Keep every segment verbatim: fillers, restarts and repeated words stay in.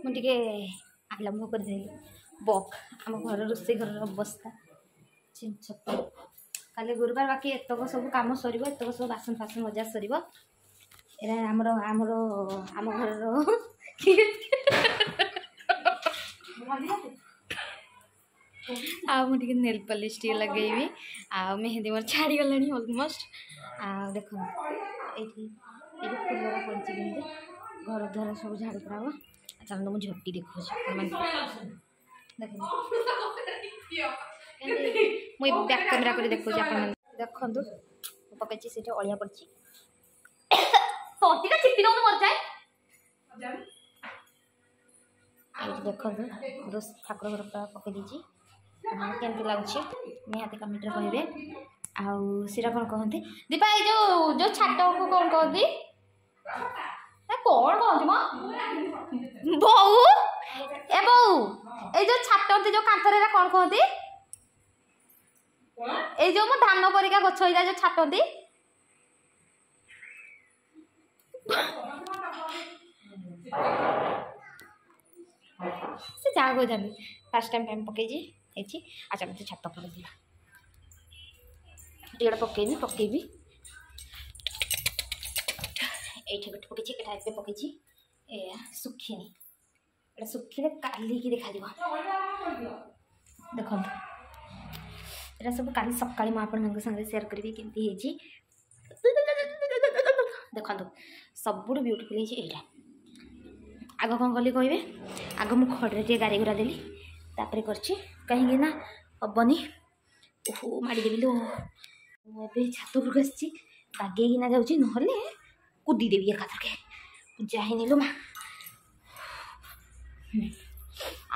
ମୁଁ ଟିକେ ଆରମ୍ଭ କରିଦେଲି ବକ୍। ଆମ ଘର ରୋଷେଇ ଘରର ଅବସ୍ଥା ଛିନଛତ୍ର। କାଲି ଗୁରୁବାର, ବାକି ଏତକ ସବୁ କାମ ସରିବ, ଏତକ ସବୁ ବାସନ ଫାସନ ମଜା ସରିବ। ଏଇଟା ଆମର ଆମର ଆମ ଘରର। ଆଉ ମୁଁ ଟିକେ ନେଲ୍ ପଲିସ୍ ଟିକେ ଲଗେଇବି, ଆଉ ମେହେନ୍ଦି ମୋର ଛାଡ଼ିଗଲାଣି ଅଲମୋଷ୍ଟ। ଆଉ ଦେଖନ୍ତୁ, ଏଇଠି ଏଇଠି ଫୁଲର ପଡ଼ିଛି, କେମିତି ଘର ଦ୍ୱାର ସବୁ ଝାଡ଼ୁ କରାହବ। ଚାଲନ୍ତୁ, ମୁଁ ଝୋଟି ଦେଖାଉଛି ଆପଣମାନେ। ଦେଖନ୍ତୁ, ମୁଁ ବ୍ୟାକ୍ କ୍ୟାମେରା କରି ଦେଖାଉଛି ଆପଣମାନେ। ଦେଖନ୍ତୁ, ମୁଁ ପକେଇଛି, ସେଇଠି ଅଳିଆ ପଡ଼ିଛି। ତଣ୍ଟିଟା ଚିପି ଦେଉନୁ, ମରିଯାଏ। ଏଇଠି ଦେଖନ୍ତୁ, ଠାକୁର ଘର ପୁରା ପକେଇ ଦେଇଛି। କେମିତି ଲାଗୁଛି ନିହାତି କମେଣ୍ଟରେ କହିବେ। ଆଉ ସେଇଟା କ'ଣ କହନ୍ତି ଦୀପା, ଏଇ ଯୋଉ ଯୋଉ ଛାଟକୁ କ'ଣ କହନ୍ତି? କ'ଣ କହନ୍ତି ମ ବୋଉ? ଏ ବୋଉ, ଏଇ ଯୋଉ ଛାଟନ୍ତି ଯୋଉ କାନ୍ଥରେ, ଏଇଟା କ'ଣ କହନ୍ତି? ଏଇ ଯୋଉ ମୋ ଧାନ ପରିକା ଗଛ ହେଇଯାଏ, ଯୋଉ ଛାଟନ୍ତି, ସେ ଯାହା କହୁଛନ୍ତି। ଫାର୍ଷ୍ଟ ଟାଇମ୍ ପାଇଁ ପକେଇଛି, ହେଇଛି। ଆଚ୍ଛା, ମୋତେ ଛାତ ଉପରେ ଯିବା। ଏଇଟା ପକେଇବି ପକେଇବି ଏଇଠି ଗୋଟେ ପକେଇଛି। ଏଇଟା ଏବେ ପକେଇଛି, ଏ ଶୁଖିନି। ଏଇଟା ଶୁଖିଲେ କାଲିକି ଦେଖାଯିବ। ଦେଖନ୍ତୁ, ଏଇଟା ସବୁ କାଲି ସକାଳେ ମୁଁ ଆପଣମାନଙ୍କ ସାଙ୍ଗରେ ସେୟାର କରିବି କେମିତି ହେଇଛି। ଦେଖନ୍ତୁ, ସବୁଠୁ ବ୍ୟୁଟିଫୁଲ୍ ହେଇଛି ଏଇଟା। ଆଗ କ'ଣ କଲି କହିବେ? ଆଗ ମୁଁ ଖଡ଼ିରେ ଟିକେ ଗାରି ଗୁରା ଦେଲି, ତାପରେ କରିଛି, କାହିଁକି ନା ହେବନି। ଓହୋ, ମାଡ଼ିଦେବି ଲୋ। ମୁଁ ଏବେ ଛାତ ଉପରକୁ ଆସିଛି, ବାଗେଇକିନା ଯାଉଛି, ନହେଲେ କୁଦିଦେବି ଏକାଥରକେ। ପୂଜା ହେଇନି ଲୋ ମା।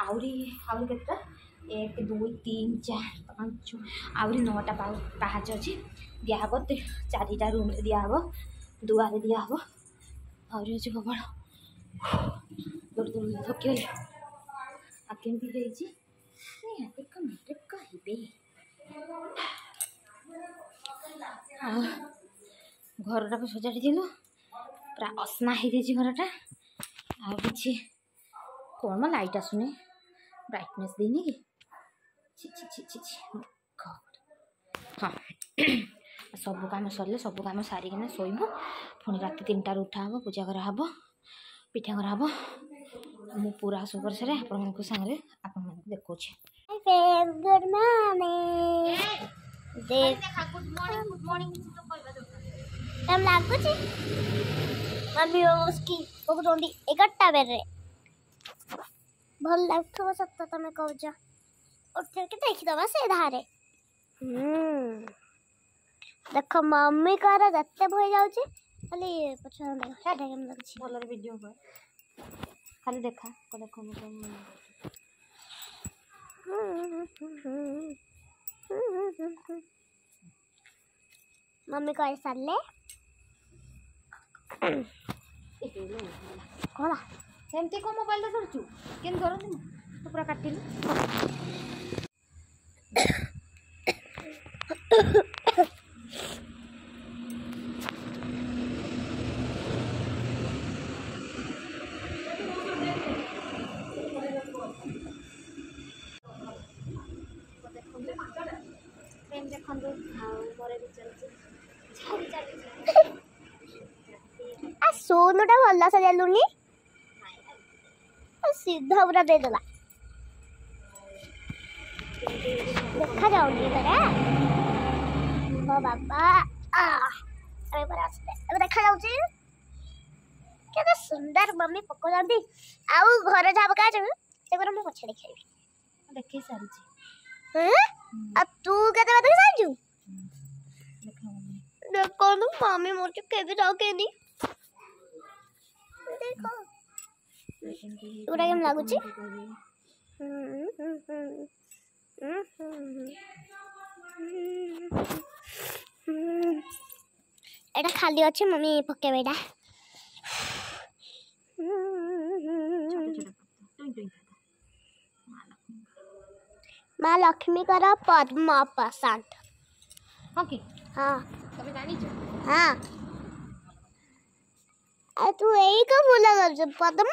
ଆହୁରି ଆହୁରି କେତେଟା? ଏକ, ଦୁଇ, ତିନି, ଚାରି, ପାଞ୍ଚ, ଆହୁରି ନଅଟା ପାହାଚ ଅଛି। ଦିଆହେବ ଚାରିଟା ରୁମ୍ରେ, ଦିଆହେବ ଦୁଆରେ, ଦିଆହେବ ଆହୁରି ଅଛି ପ୍ରବଳ। ଦୌଡ଼ି ଦୌଡ଼ି ଥକିଗଲି। ଆଉ କେମିତି ହେଇଛି ନିହାତି କମେଣ୍ଟରେ କହିବେ। ଆଉ ଘରଟାକୁ ସଜାଡ଼ିଥିଲୁ, ପୁରା ଅସନା ହେଇଯାଇଛି ଘରଟା। ଆଉ କିଛି କ'ଣ ମ, ଲାଇଟ୍ ଆସୁନି, ବ୍ରାଇଟନେସ୍ ଦେଇନି କି? ଛି ଛି ଛି ଛି ଛି। ହଁ, ସବୁ କାମ ସରିଲେ, ସବୁ କାମ ସାରିକିନା ଶୋଇବୁ। ପୁଣି ରାତି ତିନିଟାରୁ ଉଠା ହେବ, ପୂଜା କରାହେବ, ପିଠା କରାହେବ। ମୁଁ ପୁରା ସବୁ କରିସାରେ ଆପଣମାନଙ୍କ ସାଙ୍ଗରେ ଆପଣମାନଙ୍କୁ ଦେଖାଉଛି। Good morning. Good morning, good morning. Time ଲାଗୁଛି। ମମ୍ମି ପକଉଛନ୍ତି ଏଗାରଟା ବେଳରେ। ଭଲ ଲାଗୁଥିବ ସତ ତମେ କହୁଛ। ଉଠେଇକି ଦେଖିଦବା ସେ ଧାରେ। ଦେଖ, ମମ୍ମିଙ୍କର ଯେତେ ଭୟ ଯାଉଛି, ଖାଲି ପଛ ଦେଖ ସେଇଟା କେମିତି ଲାଗୁଛି। ଭଲରେ ଭିଡ଼ିଓ କର, ଖାଲି ଦେଖା ଦେଖ। ମୁଁ ମମ୍ମି କରିସାରିଲେ କଣ? ସେମିତି କ'ଣ ମୋବାଇଲଟା ଧରୁଛୁ? କେମିତି ଧରନ୍ତି? ତୁ ପୁରା କାଟିଲୁ। ଦେଖନ୍ତୁ, ଆଉ ମୋର ବି ଚାଲିଛି, ଝାଡ଼ି ଚାଲିଛି। ଆ ସୋନୁଟା ଭଲ ସଜାଲୁନି, ସିଧା ପୁରା ଦେଇଦେଲା। ଦେଖାଯାଉନି ପରା। ମୋ ବାବା ଏବେ ପରା ଆସିଲେ, ଏବେ ଦେଖାଯାଉଛି କେତେ ସୁନ୍ଦର ମମ୍ମି ପକଉଛନ୍ତି। ଆଉ ଘରେ ଯାହା ପକା ଅଛି ସେଗୁଡ଼ା ମୁଁ ପଛରେ ଦେଖେଇବି। ଦେଖେଇ ସାରିଛି। ଆଉ ତୁ କେତେ ଦେଖି ସାରିଛୁ? ଦେଖନ୍ତୁ, ମମ୍ମି ମୋର କେବେ ରଖେନି। ଦେଖ, ଏଗୁଡ଼ା କେମିତି ଲାଗୁଛି? ଏଇଟା ଖାଲି ଅଛି, ମମ୍ମି ପକେଇବେ ଏଇଟା। ମା ଲକ୍ଷ୍ମୀଙ୍କର ପଦ୍ମ ପସନ୍ଦ। ହଁ କି? ହଁ। ତମେ ଜାଣିଛ? ହଁ। ଆଉ ତୁ ଏଇ କଣ ଫୁଲ କରୁଛୁ ପଦ୍ମ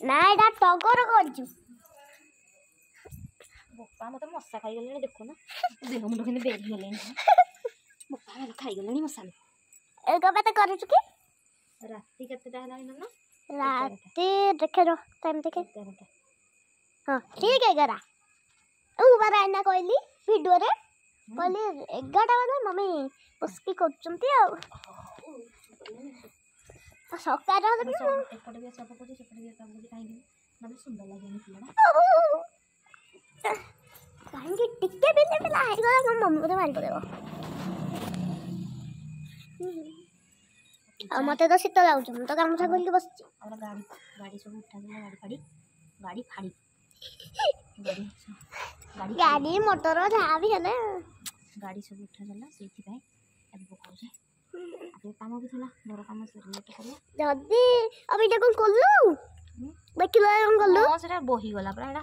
ନା ଏଇଟା ଟଗର କରୁଛୁ ବୋପା ମତେ ମଶା ଖାଇଗଲେଣି ଦେଖୁନ ଦେହ ମୁଣ୍ଡ କେମିତି ବେରି ଗଲେଣି ବୋପା ମତେ ଖାଇଗଲେଣି ମଶା ଏ କଣ ପାଇଁ କରୁଛୁ କି ରାତି କେତେଟା ହେଲାଣି ମାମା ରାତି ଦେଖେ ରହ ଟାଇମ୍ ଦେଖେ ଏଗାରଟା ହଁ ଠିକ ଏଗାର ମୁଁ ପରା ଏଇନା କହିଲି ଭିଡ଼ିଓରେ କହିଲି ଏଗାରଟା ବେଳେ ମମି ବସିକି କରୁଛନ୍ତି ଆଉ ଆଉ ସକାଳେ ହେଲେ ବି ମୁଁ ଏପଟେ ବି ସଫା କରୁଛି ସେପଟେ ବି ସଫା କରୁଛି କାହିଁକି ନହେଲେ ସୁନ୍ଦର ଲାଗେନି ଫୁଲଟା କାହିଁକି ଟିକେ ବିଲେ ପିଲା ହେଇଗଲା ମୋ ମମି ମୋତେ ମାରି ପକେଇବ ଆଉ ମତେ ତ ଶୀତ ଲାଗୁଛି ମୁଁ ତ ଗାମୁଛା ଖୋଲିକି ବସିଛି ଆମର ଗାଡ଼ି ଗାଡ଼ି ସବୁ ଉଠାଗଲା ଗାଡ଼ି ଫାଡ଼ି ଗାଡ଼ି ଫାଡ଼ି ଗାଡ଼ି ଗାଡ଼ି ଗାଡ଼ି ମଟର ଯାହା ବି ହେଲେ ଗାଡ଼ି ସବୁ ଉଠାଗଲା ସେଇଥିପାଇଁ ଏବେ ପକାଉଛି ଆଉ କାମ ବି ଥିଲା ଘର କାମ ସରିଲେ ତ କରିବା ଯଦି ଆଉ ଏଇଟା କଣ କଲୁ ଦେଖିଲୁ କଣ କଲୁ ହଁ ସେଟା ବହିଗଲା ପୁରା ଏଟା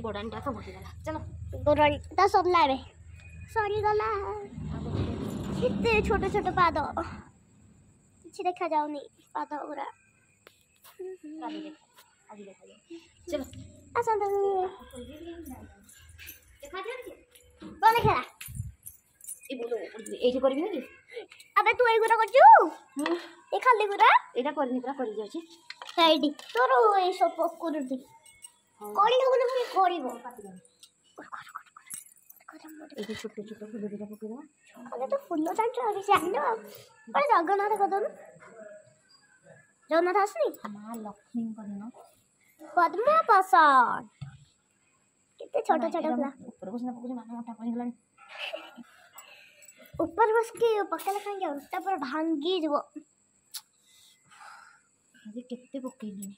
ଗୋଡ଼ାଣିଟା ତ ବହିଗଲା ଚାଲ ଗୋଡ଼ାଣିଟା ସରିଲା ଏବେ ସରିଗଲା କେତେ ଛୋଟ ଛୋଟ ପାଦ କିଛି ଦେଖାଯାଉନି ପାଦ ଗୁରା କାଲି ଦେଖ ଆଜି ଦେଖାଯାଉ ଚାଲ ଆସନ୍ତୁ ଦେଖାଯାଉଛି କଣ ଦେଖେଲା ଏଇ ବୋଲ ଏଇଠି କରିବିନି କି ଆବେ ତୁ ଏଇଗୁରା କରୁଛୁ ଏ ଖାଲି ଗୁରା ଏଇଟା କରିନି ପୁରା କରି ଯାଉଛି ହେଇଠି ତୋର ଏଇ ସବୁ ପକୁରୁଟି କରିବ ବୋଲି ପୁଣି କରିବ ଏଇଠି ଛୋଟ ଛୋଟ ଫୁଲ ଦୁଇଟା ପକେଇଦେବା ଆରେ ତ ଫୁଲ ଜାଣିଛୁ ଆଉ କିଛି ଜାଣିନୁ ଆଉ ଗୋଟେ ଜଗନ୍ନାଥ କରିଦଉନୁ ଜଗନ୍ନାଥ ଆସୁନି ମା ଲକ୍ଷ୍ମୀଙ୍କ ଦିନ ପଦ୍ମ ପସନ୍ଦ କେତେ ଛୋଟ ଛୋଟ ଫୁଲ ଉପରକୁ ସିନା ପକଉଛି ମାନେ ମୋଟା ପଡ଼ିଗଲାଣି ଉପରେ ବସିକି ପକେଇଲେ କାହିଁକି ଅଣ୍ଟା ପୁରା ଭାଙ୍ଗିଯିବ ଆଜି କେତେ ପକେଇଲିଣି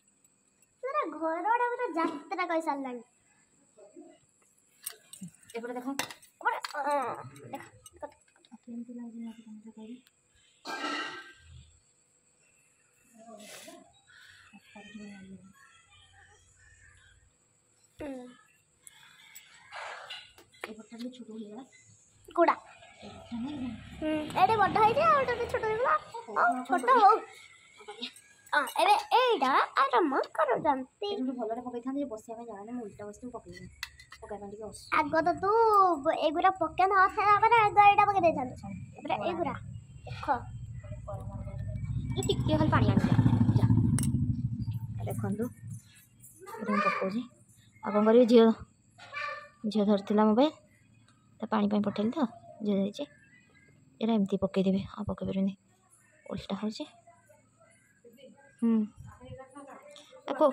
ପୁରା ଘରଟା ପୁରା ଯାତ୍ରା କରିସାରିଲାଣି ଏପଟେ ଦେଖ ଦେଖ କେମିତି ଲାଗୁଛି ମତେ ତମେ କହିବି ଏପଟଟା ଟିକେ ଛୋଟ ହେଇଗଲା ଗୁଡ଼ା ଏଇଟା ବଡ଼ ହେଇଛି ଆଉ ଏଇଟା ଛୋଟ ହେଇଗଲା ହଉ ଛୋଟ ହଉ ହଁ ଏବେ ଏଇଟା ଆରମ୍ଭ କରୁଛନ୍ତି ଏଠି ଭଲରେ ପକେଇଥାନ୍ତି ଯେ ବସିବା ପାଇଁ ଜାଗା ନାହିଁ ମୁଁ ଉଲ୍ଟା ବସିକି ପକେଇବି ପକେଇବା ପାଇଁ ଟିକେ ଅସୁ ଆଗ ତ ତୁ ଏଗୁରା ପକେଇ ନଥିଲା ପରେ ଆଗ ଏଇଟା ପକେଇ ଦେଇଥାନ୍ତୁ ତାପରେ ଏଗୁରା ଦେଖ ଏ ଟିକେ ଖାଲି ପାଣି ଆଣିଯା ଯା ଦେଖନ୍ତୁ ଏଠି ମୁଁ ପକଉଛି ଆଉ କ'ଣ କରିବି ଝିଅ ଝିଅ ଧରିଥିଲା ମୋବାଇଲ ତା ପାଣି ପାଇଁ ପଠେଇଲି ତ ଝିଅ ଯାଇଛି ଏଇଟା ଏମିତି ପକେଇଦେବି ଆଉ ପକେଇ ପାରିବିନି ଓଲଟା ହେଉଛି ହୁଁ ଆଉ କଣ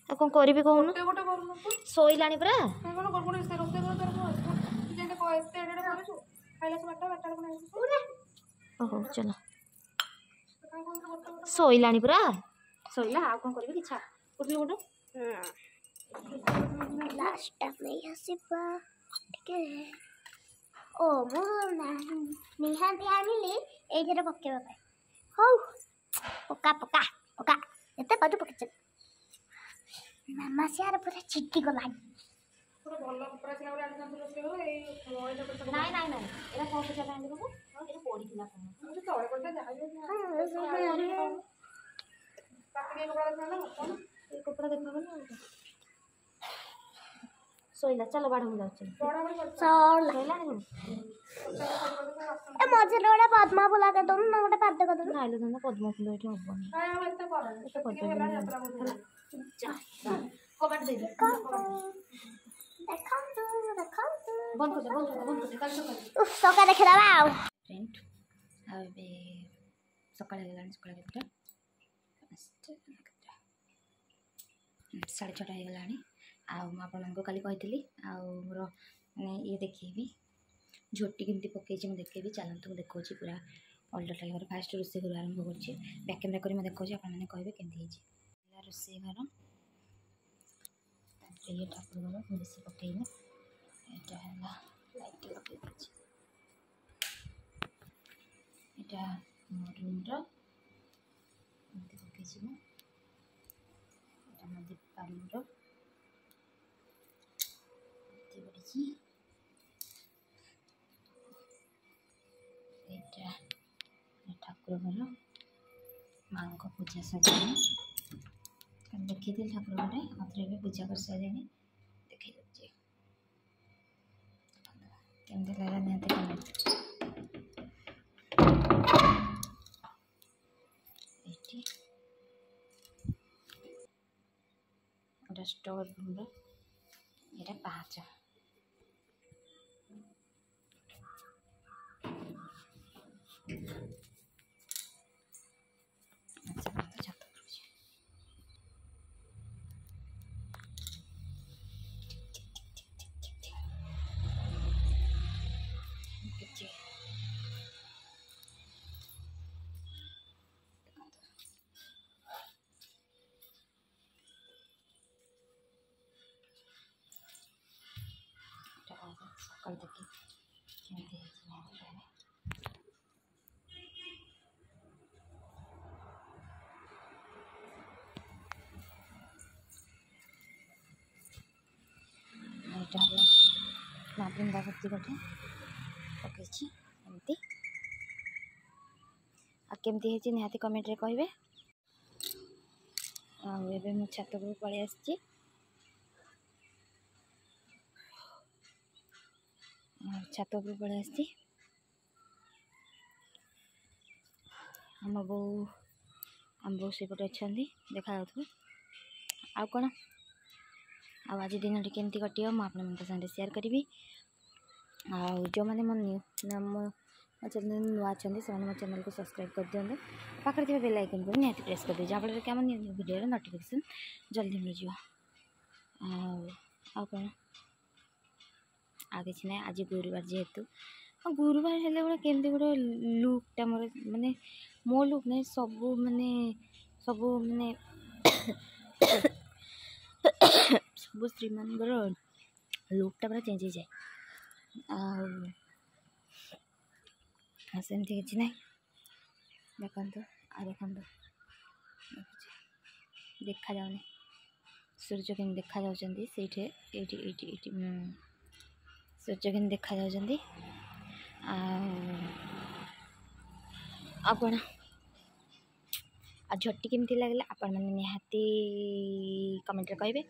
ଆଉ କ'ଣ କରିବି କହୁନୁ ଗୋଟେ କରୁନୁ ତୁ ଶୋଇଲାଣି ପରା କାଇଁ କଣ କରୁନୁ ରୋଷେଇ ରୋଷେଇ କର ତୋର କଣ ତୁ ଯେମିତି କହ ଏତେ ଏଡ଼େ ଏଡ଼େ କରୁଛୁ ଖାଇଲା ସବୁ ବାରଟା ବାରଟା ବେଳକୁ ଆସୁଛୁ ହଉ ହଉ ଚାଲ କାଇଁ କହୁଛୁ ଗୋଟେ ଗୋଟେ ଶୋଇଲାଣି ପରା ଶୋଇଲା ଆଉ କ'ଣ କରିବି କିଛି ଉଠିଲି ଗୋଟେ ଲାଷ୍ଟଟା ନେଇ ଆସିବା ଟିକେ ଓ ମୁଁ ନିହାତି ଆଣିଲି ଏଇଥିରେ ପକେଇବା ପାଇଁ ହଉ ପକା ପକା ପକା ଏତେ ପାରୁ ପକେଇଛ ମାମା ସିଆର ପୁରା ଚିଟି ଗଲାଣି ପୁରା ଭଲ କପଡ଼ା ଥିଲା ଗୋଟେ ଆଣିଥାନ୍ତୁ ରୋଷେଇ ଘରୁ ଏଇ ମଇଳା କପଡ଼ା ନାଇଁ ନାଇଁ ନାଇଁ ଏଇଟା କ'ଣ ପୂଜା ପାଇଁ ଆଣିଲି ବାବୁ ଏଇଟା ପଡ଼ିଥିଲା କ'ଣ ମୁଁ ତଳେ ପଡ଼ିଥିଲା ଯାହା ବି ରାତିକି କପଡ଼ା ଥିଲା ନା କଣ ଏ କପଡ଼ା ଦେଖାଗଲା ଆଉ କ'ଣ। ଶୋଇଲା ଚାଲ ବାଢ଼ ମୁଁ ଯାଉଛି ବଡ଼ ବଡ଼ ପଡ଼ିଥିଲା ସରିଲା ଶୋଇଲାଣି ପୁଣି ଏ ମଝିରେ ଗୋଟେ ପଦ୍ମ ଫୁଲ କରିଦଉନୁ ନା ଗୋଟେ ପାଦ କରିଦଉନୁ ନାଇଁଲୋ ଧନ୍ଦା ପଦ୍ମ ଫୁଲ ଏଠି ହବନି କାଇଁ ଆଉ ଏତେ କରନି ସେତିକି ହେଲା ଯାତ୍ରା ବହୁତ ଯା କବାଟ ଦେଇଦେ ଦେଖନ୍ତୁ ଦେଖନ୍ତୁ ବନ୍ଦ କରିଦେ ବନ୍ଦ କରିଦେ ବନ୍ଦ କରିଦେ କାଲି ସକାଳେ ଉଫ୍ ସକାଳେ ଦେଖିଦେବା ଆଉ ଫ୍ରେଣ୍ଡ ଆଉ ଏବେ ସକାଳ ହେଇଗଲାଣି ସକାଳ କେତେଟା ପାଞ୍ଚଟା କେତେଟା ସାଢ଼େ ଛଅଟା ହେଇଗଲାଣି ଆଉ ମୁଁ ଆପଣମାନଙ୍କୁ କାଲି କହିଥିଲି ଆଉ ମୋର ମାନେ ଇଏ ଦେଖେଇବି ଝୋଟି କେମିତି ପକେଇଛି ମୁଁ ଦେଖେଇବି ଚାଲନ୍ତୁ ମୁଁ ଦେଖାଉଛି ପୁରା ଅଲ୍ ଟୋଟାଲ୍ ଘର ଫାଷ୍ଟ ରୋଷେଇ ଘରୁ ଆରମ୍ଭ କରୁଛି ବ୍ୟାକ୍ କ୍ୟାମେରା କରି ମୁଁ ଦେଖାଉଛି ଆପଣମାନେ କହିବେ କେମିତି ହେଇଛି ହେଲା ରୋଷେଇ ଘର ତାପରେ ଇଏ ଠାକୁର ଘର ମୁଁ ବେଶୀ ପକେଇନି ଏଇଟା ହେଲା ଲାଇଟ୍ ଲଗେଇ ଦେଇଛି ଏଇଟା ମୋ ରୁମ୍ର ଏମିତି ପକେଇଛି ମୁଁ ଏଇଟା ମୋ ଦୀପା ରୁମ୍ର ଏମିତି ପଡ଼ିଛି ଏଇଟା ଠାକୁର ଘର ମାଆଙ୍କ ପୂଜା ସରିଲାଣି କାଲି ଦେଖିଥିଲି ଠାକୁର ଘରେ ଆଉଥରେ ଏବେ ପୂଜା କରିସାରିଲେଣି ଦେଖେଇ ଦେଉଛି କେମିତି ଲାଗିଲା ନିହାତି କମେଣ୍ଟ ଏଇଠି ଏଇଟା ଷ୍ଟୋର ରୁମ୍ର ଏଇଟା ପାହାଚ ଆଚ୍ଛା ଛାତ ଉପରକୁ ଯିବା। କିଛି ଦେଖନ୍ତୁ ଏଇଟା କଣ ସକାଳୁ ଦେଖି କେମିତି ହେଇଛି ନିହାତି କହିବେ ଏଇଟା ହେଲା ମା ବୃନ୍ଦାବତୀ ଗୋଟେ ପକେଇଛି ଏମିତି ଆଉ କେମିତି ହେଇଛି ନିହାତି କମେଣ୍ଟରେ କହିବେ ଆଉ ଏବେ ମୁଁ ଛାତ ଉପରକୁ ପଳେଇ ଆସିଛି ଆଉ ଛାତ ଉପରକୁ ପଳେଇ ଆସିଛି ଆମ ବୋଉ ଆମ ବୋଉ ସେପଟେ ଅଛନ୍ତି ଦେଖାଯାଉଥିବ ଆଉ କ'ଣ ଆଉ ଆଜି ଦିନଟି କେମିତି କଟିବ ମୁଁ ଆପଣମାନଙ୍କ ସାଙ୍ଗରେ ସେୟାର କରିବି ଆଉ ଯେଉଁମାନେ ମୋ ନ୍ୟୁ ମୋ ମୋ ଚ୍ୟାନେଲ୍ ନୂଆ ଅଛନ୍ତି ସେମାନେ ମୋ ଚ୍ୟାନେଲ୍କୁ ସବସ୍କ୍ରାଇବ୍ କରିଦିଅନ୍ତୁ ପାଖରେ ଥିବା ବେଲ୍ ଆଇକନ୍କୁ ବି ନିହାତି ପ୍ରେସ୍ କରିଦିଅ ଯାହାଫଳରେ କି ଆମ ନ୍ୟୁ ନ୍ୟୁ ଭିଡ଼ିଓର ନୋଟିଫିକେସନ୍ ଜଲ୍ଦି ମିଳିଯିବ ଆଉ ଆଉ କ'ଣ ଆଉ କିଛି ନାହିଁ ଆଜି ଗୁରୁବାର ଯେହେତୁ ଆଉ ଗୁରୁବାର ହେଲେ ଗୋଟେ କେମିତି ଗୋଟେ ଲୁକ୍ଟା ମୋର ମାନେ ମୋ ଲୁକ୍ ନାହିଁ ସବୁ ମାନେ ସବୁ ମାନେ ସବୁ ସ୍ତ୍ରୀମାନଙ୍କର ଲୁକ୍ଟା ପୁରା ଚେଞ୍ଜ ହେଇଯାଏ ଆଉ ଆଉ ସେମିତି କିଛି ନାହିଁ ଦେଖନ୍ତୁ ଆଉ ଦେଖନ୍ତୁ ଦେଖୁଛି ଦେଖାଯାଉନି ସୂର୍ଯ୍ୟ କେମିତି ଦେଖାଯାଉଛନ୍ତି ସେଇଠି ଏଇଠି ଏଇଠି ଏଇଠି ସୂର୍ଯ୍ୟ କେମିତି ଦେଖାଯାଉଛନ୍ତି ଆଉ ଆଉ କ'ଣ ଆଉ ଝୋଟି କେମିତି ଲାଗିଲା ଆପଣମାନେ ନିହାତି କମେଣ୍ଟରେ କହିବେ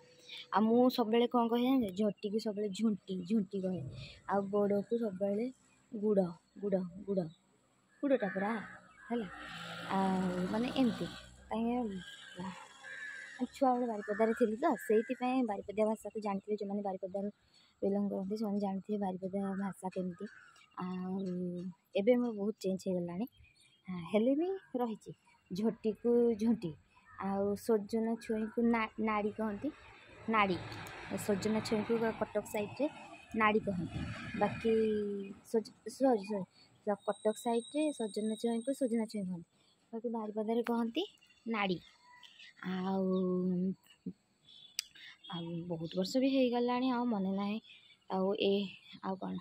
ଆଉ ମୁଁ ସବୁବେଳେ କ'ଣ କହେ ଜାଣିଛ ଝୋଟିକୁ ସବୁବେଳେ ଝୁଣ୍ଟି ଝୁଣ୍ଟି କହେ ଆଉ ଗୋଡ଼କୁ ସବୁବେଳେ ଗୁଡ଼ ଗୁଡ଼ ଗୁଡ଼ ଗୁଡ଼ଟା ପୁରା ହେଲା ଆଉ ମାନେ ଏମିତି କାହିଁକି ଛୁଆବେଳେ ବାରିପଦାରେ ଥିଲି ତ ସେଇଥିପାଇଁ ବାରିପଦା ଭାଷାକୁ ଜାଣିଥିବେ ଯେଉଁମାନେ ବାରିପଦାରୁ ବିଲଙ୍ଗ କରନ୍ତି ସେମାନେ ଜାଣିଥିବେ ବାରିପଦା ଭାଷା କେମିତି ଆଉ ଏବେ ମୋର ବହୁତ ଚେଞ୍ଜ ହେଇଗଲାଣି ହେଲେ ବି ରହିଛି ଝୋଟିକୁ ଝୁଣ୍ଟି ଆଉ ସଜନା ଛୁଇଁକୁ ନାଡ଼ି କହନ୍ତି ନାଡ଼ି ସଜନା ଛୁଇଁକୁ କଟକ ସାଇଡ଼୍ରେ ନାଡ଼ି କହନ୍ତି ବାକି ସରି ସରି କଟକ ସାଇଡ଼୍ରେ ସଜନା ଛୁଇଁକୁ ସଜନା ଛୁଇଁ କହନ୍ତି ବାକି ବାରିପଦାରେ କହନ୍ତି ନାଡ଼ି ଆଉ ଆଉ ବହୁତ ବର୍ଷ ବି ହେଇଗଲାଣି ଆଉ ମନେ ନାହିଁ ଆଉ ଏ ଆଉ କ'ଣ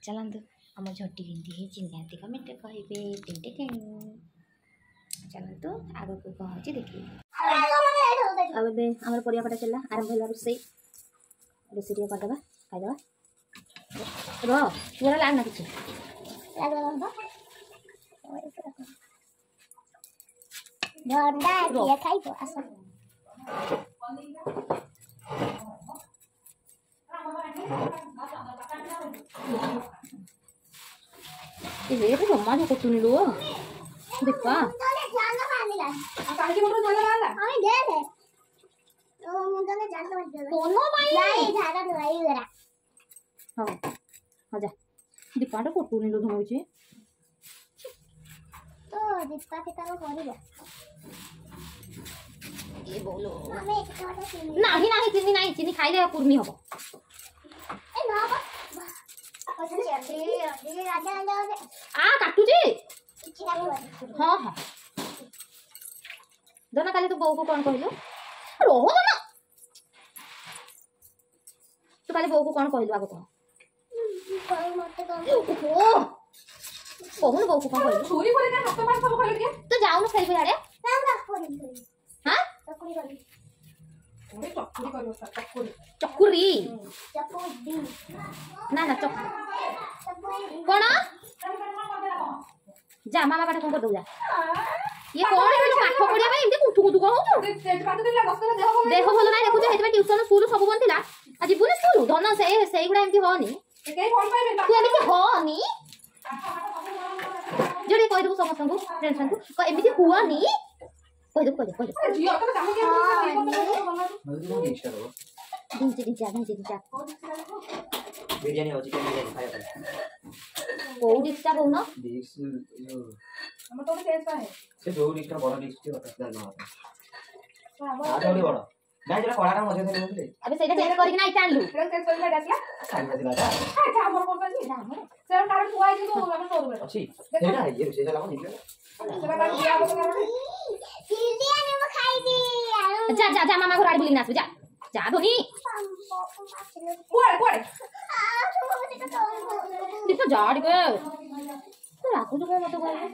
ଚାଲନ୍ତୁ ଆମ ଝୋଟି କେମିତି ହେଇଛି ନିହାତି କମେଣ୍ଟରେ କହିବେ ଟିଂ ଟିଂ ଚାଲନ୍ତୁ ଆଗକୁ କ'ଣ ହେଉଛି ଦେଖିବେ ଆଉ ଏବେ ଆମର ପରିବା କଟା ଚାଲିଲା ଆରମ୍ଭ ହେଲା ରୋଷେଇ ରୋଷେଇ ଟିକେ କରିଦେବା ଖାଇଦେବା ର ପୁରା ଲାଗ ନା କିଛି ଭଣ୍ଡା କିଏ ଖାଇବ ଆସ ଏ ଜମା କଟୁନି ଲୋ ଦୀପା କାହିଁକି ମୁଣ୍ଡରେ ଝାଳ ବାହାରିଲା କଣ ପାଇଁ ହଉ ହଉ ଯା ଦୀପାଟା କଟୁନି ଲୋ ଧମଉଛି ତ ଦୀପା ପିତାକୁ କରିବ ଏ ବୋଲୋ ଆମେ ଏତେ ବାଟ ଚିନି ନାହିଁ ନାହିଁ ଚିନି ନାହିଁ ଚିନି ଖାଇଲେ କୁର୍ମି ହବ ଏ ନ ହବ ଆ କାଟୁଛି କିଛି କାଟିବନି ହଁ ହଁ ଧନ କାଲି ତୁ ବୋଉକୁ କ'ଣ କହିଲୁ ରହ ଧନ ତୁ କାଲି ବୋଉକୁ କ'ଣ କହିଲୁ ଆଗ କହ ମତେ କଣ ଓହୋ କହୁନୁ ବୋଉକୁ କ'ଣ କହିଲୁ ଛୁରୀ ଫୁରୀ ନା ହାତ ମାରି ସବୁ ଖାଇଲୁ ଟିକେ ତୁ ଯାଉନୁ ଖେଳିବୁ ଇଆଡ଼େ ନା ମୁଁ ଚକୁଳି କରିବି ହଁ ଚକୁଳି କରିବି ଗୋଟେ ଚକୁଳି କରିବ ଚକୁଳି ଚକୁରି ଚକୁଳି ନା ନା ଚକୁ ଚକୁଳି କ'ଣ ଯା, ମାମା ପାଠ କଣ କରିଦବୁ ଯା। ଇଏ କଣ ହେଲା? ପାଠ ପଢିବା ପାଇଁ ଏମିତି କୁଠୁ କୁଠୁ କଣ ହଉଛୁ? ପାଞ୍ଚ ଦିନ ଦଶ ଦିନ ଦେହ ଭଲ। ଦେହ ଭଲ ନାହିଁ ଦେଖୁଛୁ, ସେଇଥିପାଇଁ ଟ୍ୟୁସନ ସ୍କୁଲ ସବୁ ବନ୍ଦ ଥିଲା। ଆଉ ଯିବୁନି ସ୍କୁଲ ଧନ? ସେ ସେଇଗୁଡା ଏମିତି ହଅନି। କେହି ଭଲ ପାଇବେନି। ତୁ ଏମିତି ହଅନି ଯୋଉଠି କହିଦେବୁ ସମସ୍ତଙ୍କୁ, ଫ୍ରେଣ୍ଡ ମାନଙ୍କୁ ଏମିତି ହୁଅନି କହିଦେବୁ, କହିଦେବୁ, କହିଦେବୁ। ଝିଅ ତମେ କାହିଁକି? ଢିଞ୍ଚି ଢିଞ୍ଚା ଢିଞ୍ଚି ଢିଞ୍ଚା। ବିରିୟାନୀ ଆଉ ଚିକେନ ବିରିୟାନୀ ଖାଇବା ପାଇଁ। କୋଉ ଡିଶଟା କହୁନ? ଡିସ୍ ଯୋଉ ଆମର ତ ଗୋଟେ ଚେଞ୍ଜ ପାଏ। ସେ ଯୋଉ ଡିସ୍ଟା ବଡ ଡିସ୍ ଟିକେ ଦରକାର, ତାଠୁ ବଡ ନାଇଁ, ଯୋଉଟା କଳାଟା ମଝିରେ ଥିଲା। ଆବେ ସେଇଟା ଚେଞ୍ଜ କରିକି ନା ଏଇଟା ଆଣିଲୁ? ସେଟା ଚେଞ୍ଜ କରିକି ଏଇଟା ଆସିଲା। କାଲି ଆସିଲା ଏଟା। ଆଚ୍ଛା, ଆମର କଣ ଅଛି ସେଟା? କାରଣ ଥୁଆ ହେଇଛି କିନ୍ତୁ ଆମର ସୋରୁମରେ ଅଛି ସେଇଟା। ଇଏ ରୋଷେଇ କଲା କଣ ନିଜେ ସେଟା? କାରଣ ଦିଆ ହବ କାରଣ। ବିରିୟାନୀ ମୁଁ ଖାଇବି। ଯା ଯା ଯା, ମାମା ଘର ଆଡେ ବୁଲିକିନା ଆସିବୁ, ଯା ଯା ଧୋନି। କୁଆଡେ କୁଆଡେ? ଦିପ, ଯା ଟିକେ। ତୁ ରାଗୁଛୁ କଣ ମତେ କହିବୁ?